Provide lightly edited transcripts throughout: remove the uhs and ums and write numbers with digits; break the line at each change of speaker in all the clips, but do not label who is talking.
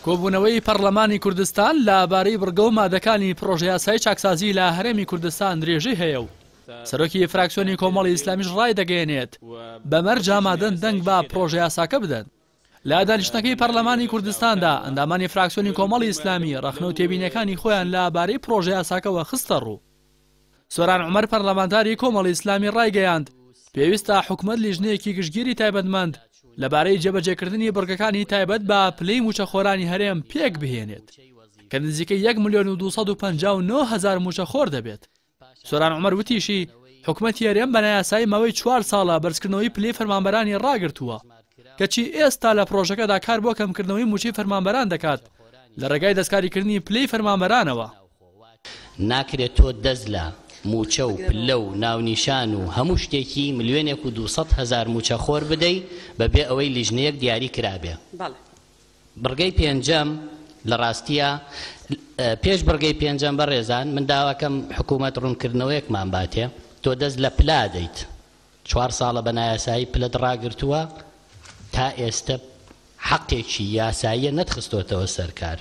کۆبوونەوەی پەرلەمانی کوردستان لە بارەی بڕگە و مادەکانی پڕۆژەیاسای چاکسازی لە هەرێمی کوردستان درێژەی هەیە و سەرۆکی فراکسیۆنی کۆمەڵی ئیسلامیش ڕایدەگەیەنێت، بە مەرج ئامادەن دەنگ بە پڕۆژەیاساکە بدەن. لە دانیشتنەکەی پەرلەمانی کوردستاندا ئەندامانی فراکسیۆنی کۆمەڵی ئیسلامی ڕەخنە و تێبینیەکانی خۆیان لە بارەی پڕۆژەیاساکەوە خستەڕوو. سۆران عومەر پەرلەمانتاری کۆمەڵی ئیسلامی ڕایگەیاند، پێویستە حکومەت لیژنەیەکی گشتگیری تایبەتمەند لەبارەی جێبەجێکردنی بڕگەکانی تایبەت بە پلەی مووچەخۆرانی هەرێم پێکبهێنێت کە نزیکەی یەک ملیۆن و 259 هەزار مووچەخۆر دەبێت. سۆران عومەر وتیشی، حکومەتی هەرێم بە نایاسایی ماوەی چوار ساڵە بەرزکردنەوەی پلەی فەرمانبەرانی ڕاگرتووە، کەچی ئێستا لە پڕۆژەکەدا کار بۆ کەمکردنەوەی مووچەی فەرمانبەران دەکات لە ڕێگای دەستکاریکردنی پلەی فەرمانبەرانەوە.
ناکرێت تۆ دەست لە مووچە و پلە و ناونیشان و هەموو شتێکی ملیۆنێک و 200 هەزار مووچەخۆر بدەی بەبێ ئەوەی لیژنەیەک دیاری کرابێ. بڕگەی پێنجەم لە ڕاستییا پێش بڕگەی پێنجەم بەڕێزان من داواکەم حکوومەت ڕوونکردنەوەیەکمان باتێ تۆ دەست لە پلە دەیت چوار ساڵە بە نایاسایی پلەت ڕاگرتووە تا ئێستە حەقێکی یاساییە نەتخستۆتەوە سەر کار.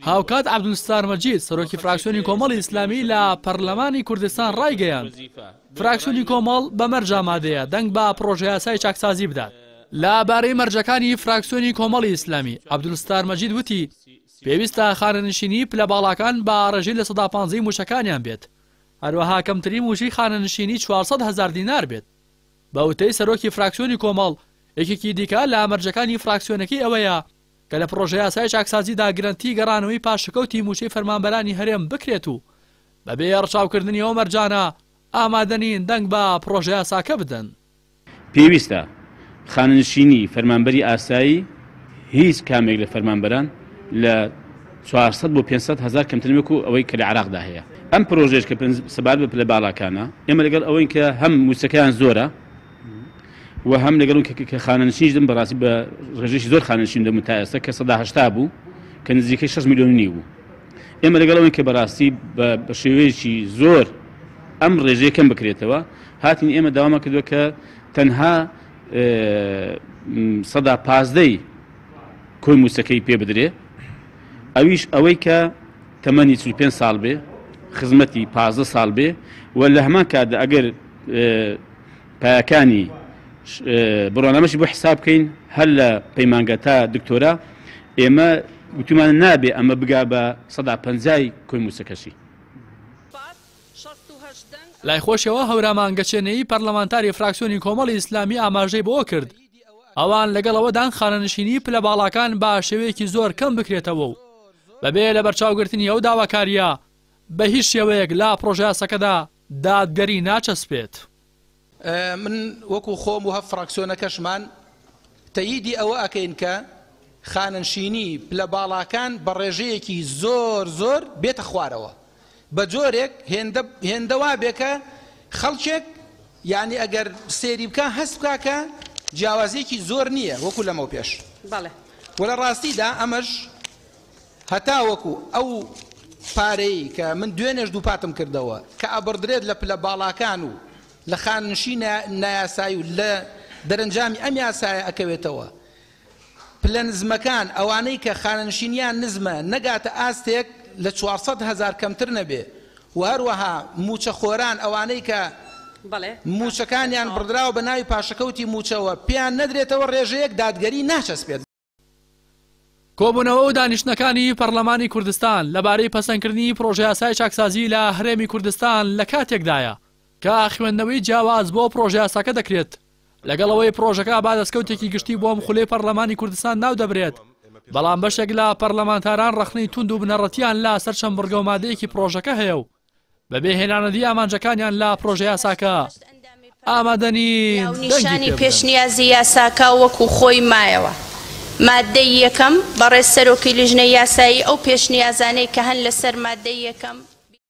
هاوکات عەبدولستار مەجید، سەرۆکی فراکسیۆنی کۆمەڵی ئیسلامی لە پەرلەمانی کوردستان ڕایگەیاند، فراکسیۆنی کۆمەڵ بە مەرج ئامادەیە دەنگ بە پڕۆژەیاسای چاکسازی بدات. لە بارەی مەرجەکانی فراکسیۆنی کۆمەڵی ئیسلامی، عەبدولستار مەجید وتی، پێویستە خانەنشینیی پلە باڵاکان بە ڕێژەی 15% ی مووچەکانیان بێت، هەروەها کەمترین مووچەی خانەنشینی 400 هەزار دینار بێت. بە وتەی سەرۆکی فراکسیۆنی کۆمەڵ، یەکێکی دیکە لە مەرجەکانی فراکسیۆنەکەی ئەوەیە کە لە پڕۆژەیاسای چاکسازیدا گرەنتی گەڕانەوەی پاشەکەوتی مووچەی فەرمانبەرانی هەرێم بکرێت و بەبێ ڕەچاوکردنی ئەو مەرجانە ئامادەنین دەنگ بە پڕۆژەیاساکە بدەن.
پێویستە خانەنشینی فەرمانبەری ئاسایی هیچ کامێک لە فەرمانبەران لە 400 بۆ 500 هەزار کەمتر نەبێت وەکو ئەوەی کە لە عێراقدا هەیە. ئەم پرۆژەیەش کە سەبارەت بە پلە باڵاکانە، ئێمە لەگەڵ ئەوەین کە هەم مووچەکەیان زۆرە و هەم لەگەڵ کە خانەنشینیش دەم بەڕاستی بە ڕێژەیەکی زۆر خانەنشین دەبوون تا ئێستا کە 80% بوو کە نزیکەی 6 ملیۆن و نیو بوو. ئێمە لەگەڵ ئەوەین کە بەڕاستی بە شێوەیەکی زۆر ئەم ڕێژەیە کەم بکرێتەوە. هاتین ئێمە داوامان کردووە کە تەنها 15%ی کۆی مووچەکەی پێ بدرێ، ئەویش ئەوەی کە تەمەنی 45 ساڵ بێ، خزمەتی 15 ساڵ بێ و لە هەمان کاتدا ئەگەر پایەکانی بڕوانامەشی بۆ حساب بکەین هەر لە پەیمانگە تا دکتۆرا، ئێمە وتومانە نابێ ئەمە بگا بە 50%ی کۆی مووچەکەشی.
لای خۆشیەوە هەورامان گەچێنەیی پەرلەمانتاری فراکسیۆنی کۆمەڵی ئیسلامی ئاماژەی بەوە کرد، ئەوان لەگەڵ ئەوەدان خانەنشینی پلە باڵاکان بە شێوەیەکی زۆر کەم بکرێتەوە و بەبێ لەبەرچاوگرتنی ئەو داواکارییە بە هیچ شێوەیەک لە پڕۆژەیاسەکەدا دادگەری ناچەسپێت.
من وەکو خۆم و هە فراکسیۆنەکەشمان تەییدی ئەوە ئەکەین کە خانەنشینی پلە باڵاکان بە ڕێژەیەکی زۆر زۆر بێتە خوارەوە بە جۆرێک هێندە هێندە وابێ کە خەڵکێک یانی ئەگەر سەیری بکا هەست بکا کە جیاوازیەکی زۆر نییە وەکو لەمەو پێش و لە ڕاستیدا ئەمەش هەتاوەکو ئەو پارەی کە من دوێنێش دووپاتم کردەوە کە ئەبڕدرێت لە پلە باڵاکان و لە خانەنشی نایاسایی و لە دەرەنجامی ئەم یاسایە ئەکەوێتەوە پلە نزمەکان ئەوانەی کە خانەنشینیان نزمە نەگاتە ئاستێک لە 400 هەزار کەمتر نەبێ و هەروەها مووچەخۆران ئەوانەی کە مووچەکانیان بڕدراوە بە ناوی پاشەکەوتی مووچەوە پێیان نەدرێتەوە ڕێژەیەک دادگەری ناچەسپێت.
کۆبوونەوە و دانیشتنەکانی پەرلەمانی کوردستان لەبارەی پەسەندکردنی پڕۆژەیاسای چاکسازی لە هەرێمی کوردستان لە کاتێکدایە کە خوێندنەوەی جیاواز بۆ پڕۆژەیاساکە دەکرێت، لەگەڵ ئەوەی پڕۆژەکە بە دەستکەوتێکی گشتی بۆ ئەم خولەی پەرلەمانی کوردستان ناودەبرێت، بەڵام بەشێک لە پەرلەمانتاران ڕەخنەی توند و بنەڕەتییان لە سەر چەند بڕگە و مادەیەکی پڕۆژەکە هەیە و بەبێ هێنانەدی ئامانجەکانیان لە پڕۆژەیاساکە ئامادە نین دەنگی
ناونیشانی
پێ بدەن.
پێشنیازی یاساکە وەکو خۆی مایەوە. ماددەی یەکەم، بەڕێز سەرۆکی لیژنەی یاسایی ئەو پێشنیازانەی کە هەن لەسەر ماددەی یەکەم.